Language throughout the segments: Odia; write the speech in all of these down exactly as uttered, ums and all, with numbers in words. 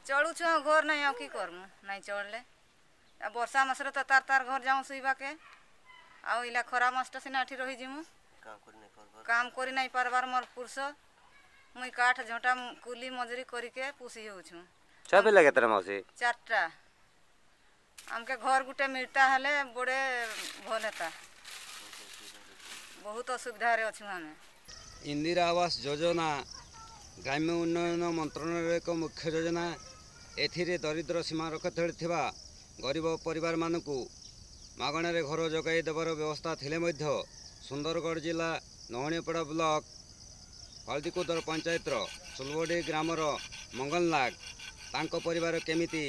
ଚଳୁଛୁ ଆଉ ଘର ନାଇଁ ଆଉ କି କରମୁ ନାଇଁ ଚଳିଲେ ଆଉ ବର୍ଷା ମାସରେ ତ ତାର ତାର ଘର ଯାଉଁ ଶୋଇବାକେ ଆଉ ଇଲା ଖରା ମାସଟା ସିନା ଏଠି ରହିଯିମୁ କାମ କରି ନାଇଁ ପାରବାର ମୋର ପୁରୁଷ ମୁଇଁ କାଠ ଝଟା କୁଲି ମଜୁରୀ କରିକେ ପୋଷି ହେଉଛୁ ଛୁଆ ପିଲା କେତେଟା ମାଉସୀ ଚାରିଟା ଆମକେ ଘର ଗୁଟେ ମିଳତା ହେଲେ ବଡ଼େ ଭଲ ହେତା ବହୁତ ଅସୁବିଧାରେ ଅଛୁ ଆମେ ଇନ୍ଦିରା ଆବାସ ଯୋଜନା ଗ୍ରାମ୍ୟ ଉନ୍ନୟନ ମନ୍ତ୍ରଣାଳୟର ଏକ ମୁଖ୍ୟ ଯୋଜନା ଏଥିରେ ଦରିଦ୍ର ସୀମାରେଖା ତଳେ ଥିବା ଗରିବ ପରିବାରମାନଙ୍କୁ ମାଗଣାରେ ଘର ଯୋଗାଇ ଦେବାର ବ୍ୟବସ୍ଥା ଥିଲେ ମଧ୍ୟ ସୁନ୍ଦରଗଡ଼ ଜିଲ୍ଲା ଲହୁଣୀପଡ଼ା ବ୍ଲକ ହଳଦୀକୁଦର ପଞ୍ଚାୟତର ସୁଲବଡ଼ି ଗ୍ରାମର ମଙ୍ଗଲ ନାଗ ତାଙ୍କ ପରିବାର କେମିତି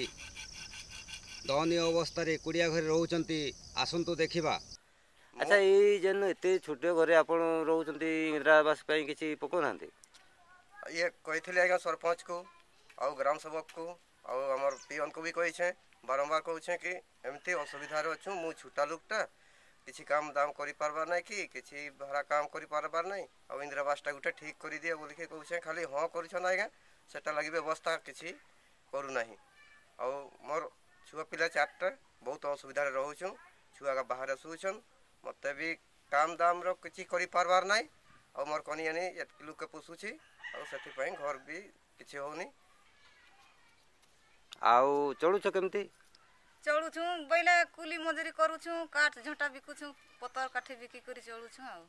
ଦୟନୀୟ ଅବସ୍ଥାରେ କୁଡ଼ିଆ ଘରେ ରହୁଛନ୍ତି ଆସନ୍ତୁ ଦେଖିବା ଆଚ୍ଛା ଏଇ ଯେନ୍ ଏତେ ଛୋଟ ଘରେ ଆପଣ ରହୁଛନ୍ତି ଇନ୍ଦିରା ଆବାସ ପାଇଁ କିଛି ପକାଉନାହାନ୍ତି ଇଏ କହିଥିଲି ଆଜ୍ଞା ସରପଞ୍ଚକୁ ଆଉ ଗ୍ରାମ ସେବକକୁ ଆଉ ଆମର ପିଅନକୁ ବି କହିଛେଁ ବାରମ୍ବାର କହୁଛେଁ କି ଏମିତି ଅସୁବିଧାରେ ଅଛୁ ମୁଁ ଛୋଟା ଲୋକଟା କିଛି କାମ ଦାମ କରିପାରବାର ନାଇଁ କି କିଛି ଭଡ଼ା କାମ କରିପାରବାର ନାଇଁ ଆଉ ଇନ୍ଦିରା ଆବାସଟା ଗୋଟେ ଠିକ୍ କରିଦିଅ ବୋଲିକି କହୁଛେଁ ଖାଲି ହଁ କରୁଛନ୍ ଆଜ୍ଞା ସେଟା ଲାଗି ବ୍ୟବସ୍ଥା କିଛି କରୁନାହିଁ ଆଉ ମୋର ଛୁଆ ପିଲା ଚାରିଟା ବହୁତ ଅସୁବିଧାରେ ରହୁଛୁଁ ଛୁଆ ବାହାରେ ଶୋଉଛନ୍ ମୋତେ ବି କାମ ଦାମର କିଛି କରିପାରବାର ନାଇଁ ଆଉ ମୋର କନିଆନି ଏତ୍କି ଲୋକ ପୋଷୁଛି ଆଉ ସେଥିପାଇଁ ଘର ବି କିଛି ହେଉନି ଆଉ ଚଳୁଛ କେମିତି ଚଳୁଛୁ ବୋଇଲେ କୁଲି ମଜୁରୀ କରୁଛୁ କାଠ ଝଟା ବିକୁଛୁ ପତର କାଠି ବିକି କରି ଚଳୁଛୁ ଆଉ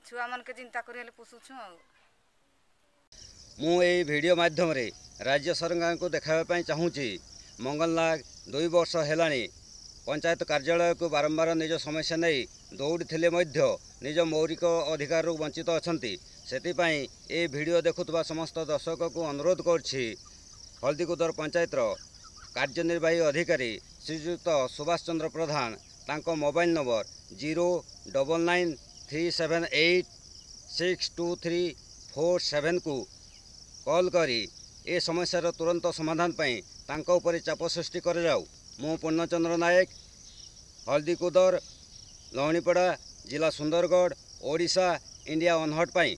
ଛୁଆମାନକେ ଚିନ୍ତା କରି ହେଲେ ପୋଷୁଛୁ ଆଉ ମୁଁ ଏଇ ଭିଡ଼ିଓ ମାଧ୍ୟମରେ ରାଜ୍ୟ ସରକାରଙ୍କୁ ଦେଖାଇବା ପାଇଁ ଚାହୁଁଛି ମଙ୍ଗଲ ନାଗ ଦୁଇ ବର୍ଷ ହେଲାଣି ପଞ୍ଚାୟତ କାର୍ଯ୍ୟାଳୟକୁ ବାରମ୍ବାର ନିଜ ସମସ୍ୟା ନେଇ ଦୌଡ଼ିଥିଲେ ମଧ୍ୟ ନିଜ ମୌଳିକ ଅଧିକାରରୁ ବଞ୍ଚିତ ଅଛନ୍ତି ସେଥିପାଇଁ ଏ ଭିଡ଼ିଓ ଦେଖୁଥିବା ସମସ୍ତ ଦର୍ଶକଙ୍କୁ ଅନୁରୋଧ କରୁଛି ହଳଦୀକୁଦର ପଞ୍ଚାୟତର କାର୍ଯ୍ୟନିର୍ବାହୀ ଅଧିକାରୀ ଶ୍ରୀଯୁକ୍ତ ସୁଭାଷ ଚନ୍ଦ୍ର ପ୍ରଧାନ ତାଙ୍କ mobile number zero double nine three seven eight six two three four ସେଭେନକୁ call କରି ଏ ସମସ୍ୟାର ତୁରନ୍ତ ସମାଧାନ ପାଇଁ ତାଙ୍କ ଉପରେ ଚାପ ସୃଷ୍ଟି କରାଯାଉ ମୁଁ ପୂର୍ଣ୍ଣଚନ୍ଦ୍ର ନାୟକ ହଳଦୀକୁଦର ଲହୁଣୀପଡ଼ା ଜିଲ୍ଲା ସୁନ୍ଦରଗଡ଼ ଓଡ଼ିଶା ଇଣ୍ଡିଆ ଅନହର୍ଡ ପାଇଁ